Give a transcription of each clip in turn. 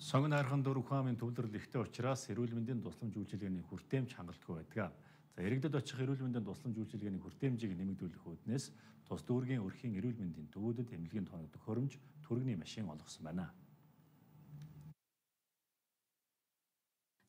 Сонгон хайрхан дөрвөн хаамын төвлөрөл ихтэй учраас эрүүл мэндийн тусламж үйлчилгээний хүртээмж хангалтгүй байдаг. Иргэдэд очих эрүүл мэндийн тусламж үйлчилгээний хүртээмжийг нэмэгдүүлэх үүднээс тус дүүргийн өрхийн эрүүл мэндийн төвүүдэд эмнэлгийн тооног төхөөрөмж түргэний машин олгосон байна.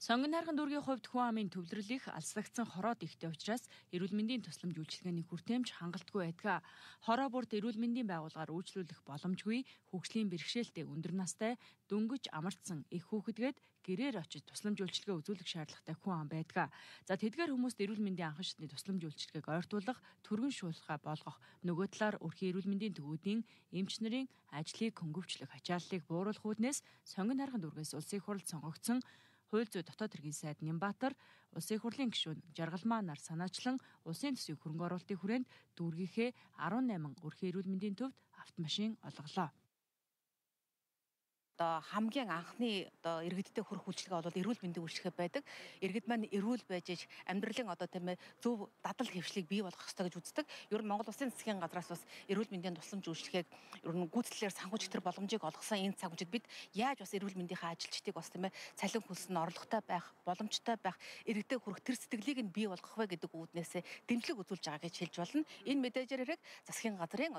Сонгон хайрхан дүүргийн хувьд хүн амын төвлөрөл их алслагдсан хороод ихтэй учраас эрүүл мэндийн тусламж үйлчилгээний хүртээмж хангалтгүй байдаг. Хороо бүрт эрүүл мэндийн байгууллагаар үйлчлүүлэх боломжгүй, хөгжлийн бэрхшээлтэй өндөр настай, дөнгөж амардсан их хүүхэдгээд гэрээр очиж тусламж үйлчилгээ үзүүлэх шаардлагатай хүн ам байдаг. За тэдгээр хүмүүст эрүүл мэндийн анхан шатны тусламж үйлчилгээг ойртуулах, түргэн шуулахаа болгох, нөгөө талаар өрхийн эрүүл мэндийн төвүүдийн эмч нарын ажлыг хөнгөвчлөх ачааллыг бууруулах үүднээс сонгон хайрхан дүүргээс улсын их хурлд сонгогдсон Хууль зүйн дотоод хэргийн сайд Нямбатар, улсын их хурлын гишүүн Жаргалмаа нар санаачлан улсын төсвийн хөрөнгө оруулалтын хүрээнд дүүргийнхээ 18 өрхийн эрүүл мэндийн төвд автомашин олголоо. Хамгийн анхны иргэдтэй хүрэх үйлчилгээ бол эрүүл мэндийн үйлчилгээ байдаг. Иргэд маань эрүүл байж амьдралын зөв дадал хэвшлийг бий болгох ёстой гэж үздэг. Ер нь Монгол Улсын засгийн газраас бас эрүүл мэндийн тусламж үйлчилгээг ер нь гүйцэтгэлээр санхүүжих тэр боломжийг олгосон энэ цаг үеэд бид яаж бас эрүүл мэндийнхээ ажилчдыг бас цалин хөлсөнд орлоготой байх, боломжтой байх, иргэдэд хүрэх тэр сэтгэлийг нь бий болгох вэ гэдэг үүднээсээ дэмжлэг үзүүлж байгаа гэж хэлж болно. Энэ мэдээжээрийг засгийн газрын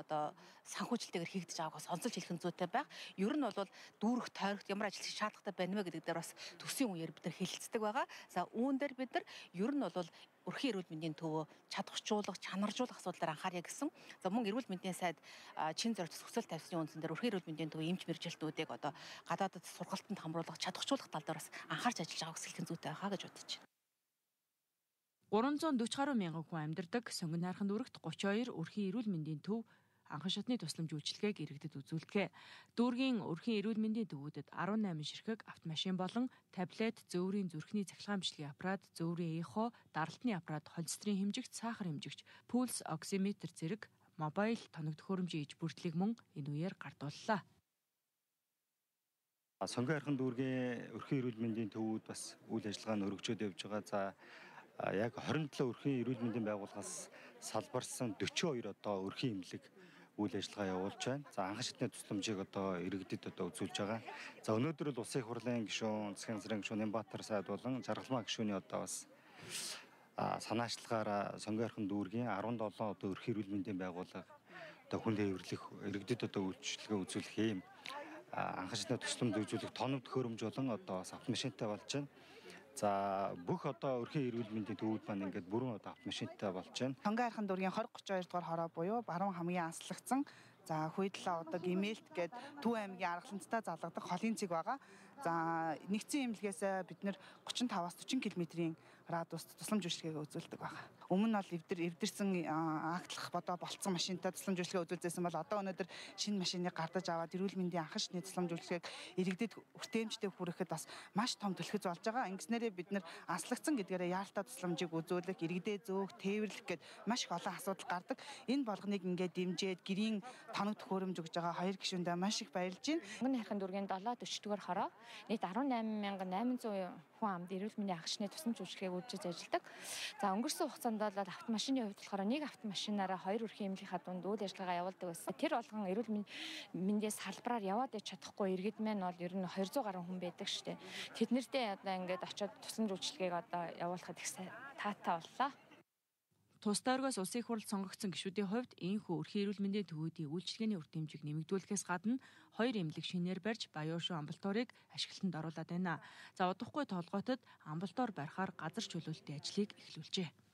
санхүүжилтэйгээр хийгдэж байгааг бас онцолж хэлэх нь зүйтэй байх. Ер нь бол дүүрэх тойрогт ямар ажил хийх шаардлагатай байна вэ гэдэг дээр бас төсвийн үеэр бид нар хэлэлцдэг байгаа. За үүн дээр бид нар ер нь бол өрхийн эрүүл мэндийн төвөө чадваржуулах, чанаржуулах асуудлаар анхаарья гэсэн. За мөн эрүүл мэндийн сайд чин зорилт төсөөлөл тавьсны үндсэн дээр өрхийн эрүүл мэндийн төвийн эмч мэргэжилтүүдийг гадаадд сургалтанд хамруулах, чадваржуулах тал дээр бас анхаарч ажиллаж байгааг хэлэх нь зүйтэй байхаа гэж бодож байна. 340 гаруй мянган хүн амьдардаг сонгон хайрхан дүүрэгт 32 өрхийн эрүүл мэндийн төв анхан шатны тусламж үйлчилгээг иргэдэд үзүүлдэг. Дүүргийн өрхийн эрүүл мэндийн төвүүдэд 18 ширхэг автомашин болон таблет, зөөврийн зүрхний цахилгаан бичлэгийн аппарат, зөөврийн эхо, даралтны аппарат, холестерин хэмжигч, сахар хэмжигч, пульс оксиметр зэрэг мобайл тоног төхөөрөмжийн иж бүрдлийг мөн энэ үеэр гардууллаа. Сонгон хайрхан дүүргийн өрхийн эрүүл мэндийн төвүүд бас үйл ажиллагаа нь өргөжөөд явж байгаа. Яг 27 өрхийн эрүүл мэндийн байгууллагаас салбарсан 42 өрхийн эмнэлэг үйл ажиллагаа явуулж байна. За анхан шатны тусламжийг иргэдэд үзүүлж байгаа. За өнөөдөр бол улсын их хурлын гишүүн, засгийн газрын гишүүн Нямбатар сайд болон Жаргалмаа гишүүний бас санаачлагаараа сонгон хайрхан дүүргийн 17 өрхийн эрүүл мэндийн байгууллага хүн тээвэрлэх иргэдэд үйлчилгээ үзүүлэх юм анхан шатны тусламж үзүүлэх тоног төхөөрөмж болон бас автомашинтай болж байна. За бүх өрхийн эрүүл мэндийн төвүүд маань ингээд бүрэн автомашинтай болж байна. Сонгон хайрхан дүүргийн 2032 дугаар хороо буюу баруун хамгийн анслагдсан Хуйдлаа Гэмээлт гээд Төв аймгийн Аргаланцтай залгадаг холын цэг байгаа. За нэгдсэн эмнэлгээс бид нэр 35-аас 40 км-ийн радиуст тусламж үйлчилгээг үзүүлдэг байгаа. Өмнө нь бол эвдэрсэн агтлах болцсон машинтай тусламж үйлчилгээ үзүүлжсэн бол одоо өнөөдөр шинэ машиныг гардаж аваад эрүүл мэндийн анхан шатны тусламж үйлчилгээг иргэдэд хүртээмжтэй хүрэхэд бас маш том түлхэж болж байгаа. Ингэснээрээ бид нэр анслагдсан гэдгээрээ яалтаа тусламжийг үзүүлэх, иргэдэд зөөх, тээвэрлэх гээд маш их олон асуудал гардаг. Энэ болгоныг ингээд дэмжиж гэрийн тоног төхөөрөмж өгж байгаа хоёр гишүүндээ маш их баярлж байна. Сонгон хайрхан дүүргийн 740 дугаар хороо нийт 18800 хүн амд эрүүл мэндийн анхан шатны тусламж үйлчилгээг үзэж ажилладаг. За өнгөрсөн хугацаанд бол автомашины хувьд болохоор нэг автомашинаараа 2 өрхийн эмнэлийнхаа дунд үйл ажиллагаа явуулдаг байсан. Тэр болгон эрүүл мэндийн салбараар яваад чадахгүй иргэд маань бол ер нь 200 гаруй хүн байдаг шүү дээ. Тэднэртэй ингээд очиод тусламж үйлчилгээг явуулахад их таатай боллоо. Тус тойргоос улсын их хурлд сонгогдсон гишүүдийн хувьд энэхүү өрхийн эрүүл мэндийн төвүүдийн үйлчилгээний хүртээмжийг нэмэгдүүлэхээс гадна 2 эмнэлэг шинээр барьж Баяуушуу амбулаторийг ашиглалтанд оруулаад байна. За удахгүй толгойтод амбулатор барихаар газар чөлөөлтийн ажлыг эхлүүлжээ.